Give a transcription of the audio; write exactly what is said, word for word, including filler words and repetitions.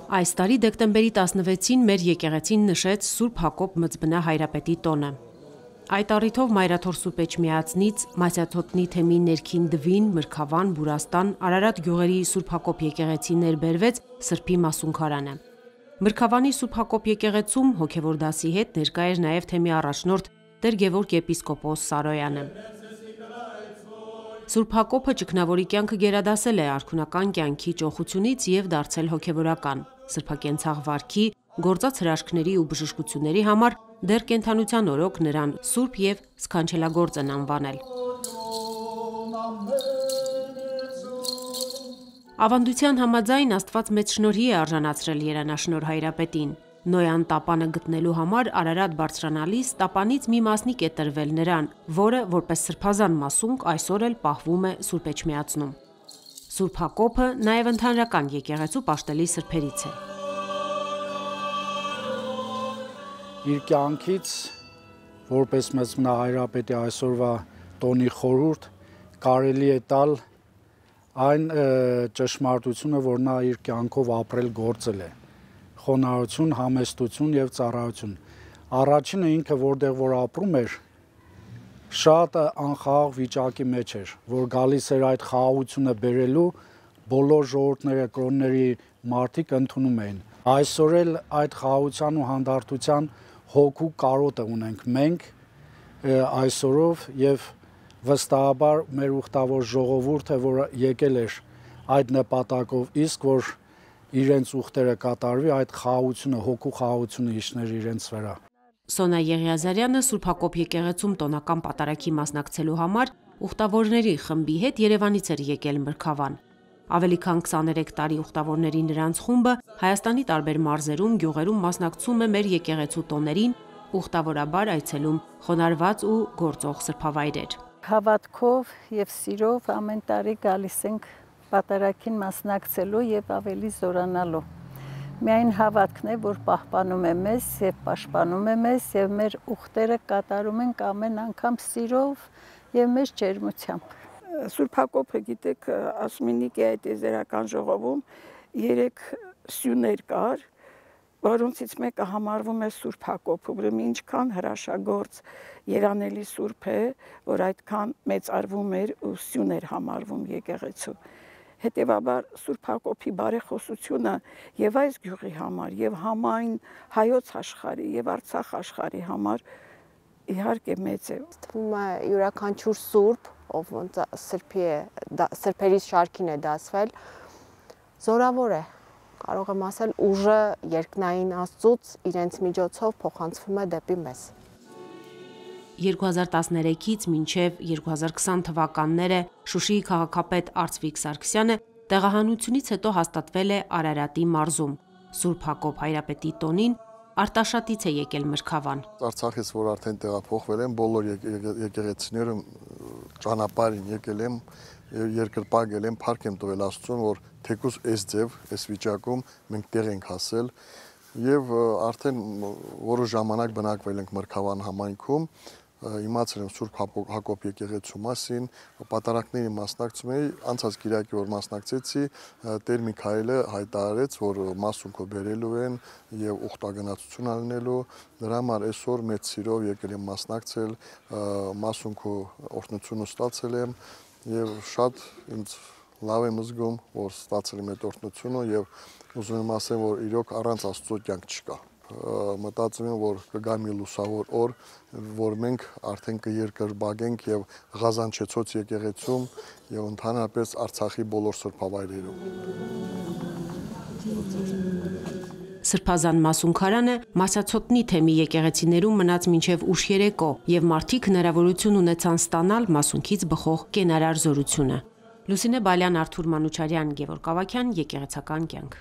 Այս տարի դեկտեմբերի տասնվեցին մեր եկեղեցին նշեց Սուրբ Հակոբ Մծբնա Հայրապետի տոնը։ Այդ առիթով Մայրաթոր Սուրբ Էջմիածնից Մասյաթոտնի թեմի ներքին Դվին, Մրգավան, Բուրաստան, Արարատ գյուղերի Սուրբ Հակոբ եկեղեցի ներբերվեց Սրբի մասունքարանը։ Մրգավանի Սուրբ Հակոբ եկեղեցում հոգևոր դասի հետ ներկա էր նաև թեմի առաջնորդ Տեր Գևորգ եպիսկոպոս Սարոյանը։ Սուրբ Հակոբը ճգնավորի կյանքը գերադասել է արքունական կյանքի ճոխությունից և դարձել հոգևորական։ Սրբակենցաղ վարքի, գործած հրաշքների ու բժշկությունների համար դեռ կենդանության օրոք նրան սուրբ և սքանչելագործ են անվանել։ Ավանդության համաձայն Աստված մեծ շնորհի է արժանացրել երանաշնորհ Հայրապետին։ Նոյան տապանը գտնելու համար Արարատ բարձրանալիս տապանից մի մասնիկ է տրվել նրան, որը որպես սրբազան մասունք այսօր էլ պահվում է Սուրբ Էջմիածնում։ Սուրբ Հակոբը նաև ընդհանրական եկեղեցու պաշտելի սրբերից է։ Իր կյանքից որպես Մծբնա Հայրապետի այսօրվա տոնի խորհուրդ կարելի է տալ այն ճշմարտությունը, որ նա իր կյանքով ապրել գործել է։ Խոնարհություն, համեստություն և ծառայություն։ Առաջինը ինքը որտեղ որ ապրում էր, շատ անխաղաղ վիճակի մեջ էր, որ գալիս էր այդ խաղաղությունը բերելու, բոլոր ժողովուրդները, կրոնների մարդիկ ընդունում էին։ Այսօր էլ այդ խաղաղության ու հանդարտության հոգու կարոտը ունենք մենք այսօրով և վստահաբար մեր ուխտավոր ժողովուրդը, որ եկել էր այդ նպատակով, իսկ որ իրենց ուխտերը կատարվի, այդ խաղաղությունը, հոգու խաղաղությունը իջներ իրենց վրա։ Սոնա Եղիազարյանը Սուրբ Հակոբ եկեղեցում տոնական պատարագի մասնակցելու համար ուխտավորների խմբի հետ Երևանից էր եկել Մրգավան։ Ավելի քան քսաներեք տարի ուխտավորների նրանց խումբը Հայաստանի տարբեր մարզերում, գյուղերում մասնակցում է մեր եկեղեցու տոներին, ուխտավորաբար այցելում խոնարհված ու գործող սրբավայրեր։ Հավատքով և սիրով ամեն տարի գալիս ենք պատարագին մասնակցելու և ավելի զորանալու։ Միայն հավատքն է, որ պահպանում է մեզ և պաշտպանում է մեզ և մեր ուխտերը կատարում ենք ամեն անգամ սիրով և մեծ ջերմությամբ։ Սուրբ Հակոբը, գիտեք, Ասմինիկի այդ եզերական ժողովում երեք սյուներ կար, որոնցից մեկը համարվում է Սուրբ Հակոբը, ուրեմն ինչքան հրաշագործ երանելի սուրբ է, որ այդքան մեծարվում էր ու սյուն էր համարվում եկեղեցու։ Հետևաբար Սուրբ Հակոբի բարեխոսությունը և այս գյուղի համար, և համայն հայոց աշխարհի և Արցախ աշխարհի համար իհարկե մեծ է։ Թվում է յուրաքանչյուր սուրբ, ով սրբի է, սրբերի շարքին է դասվել, զորավոր է, կարող եմ ասել, ուժը երկնային Աստծուց իրենց միջոցով փոխանցվում է դեպի մեզ։ երկու հազար տասներեքից մինչև երկու հազար քսան թվականները Շուշիի քաղաքապետ Արծվիկ Սարգսյանը տեղահանությունից հետո հաստատվել է Արարատի մարզում։ Սուրբ Հակոբ Հայրապետի տոնին Արտաշատից է եկել Մրգավան։ Արցախից, որ արդեն տեղափոխվել եմ, բոլոր եկեղեցիները ճանապարհին եկել եմ, երկրպագել եմ, փառք եմ տվել Աստծուն, որ թեկուզ այս ձև, այս վիճակում մենք տեղ ենք հասել եւ արդեն որոշ ժամանակ բնակվել ենք Մրգավան համայնքում, իմացել եմ Սուրբ Հակոբ եկեղեցու մասին, պատարագների մասնակցում էի, անցած կիրակի որ մասնակցեցի, Տեր Միքայելը հայտարարեց, որ մասունքը բերելու են եւ ուխտագնացություն անելու, դրա համար այսօր մեծ սիրով եկել եմ մասնակցել, մասունքը օրհնություն ստացել եմ եւ շատ ինձ լավ եմ զգում, որ ստացել եմ այդ օրհնությունը եւ ուզում եմ ասեմ, որ իրոք առանց Աստծո կյանք չկա։ Մտածում եմ, որ կգա մի լուսավոր օր, որ մենք արդեն կերկրբագենք եւ Ղազանչեցոց եկեղեցում եւ ընդհանրապես Արցախի բոլոր սրբավայրերում։ Սրբազան մասունքարանը Մասյաթոտնի թեմի եկեղեցիներում մնաց մինչև ուշ երեկո եւ մարդիկ հնարավորություն ունեցան ստանալ մասունքից բխող կենարար զորությունը։ Լուսինե Բալյան, Արթուր Մանուչարյան, Գևորգ Ավագյան, Եկեղեցական կյանք։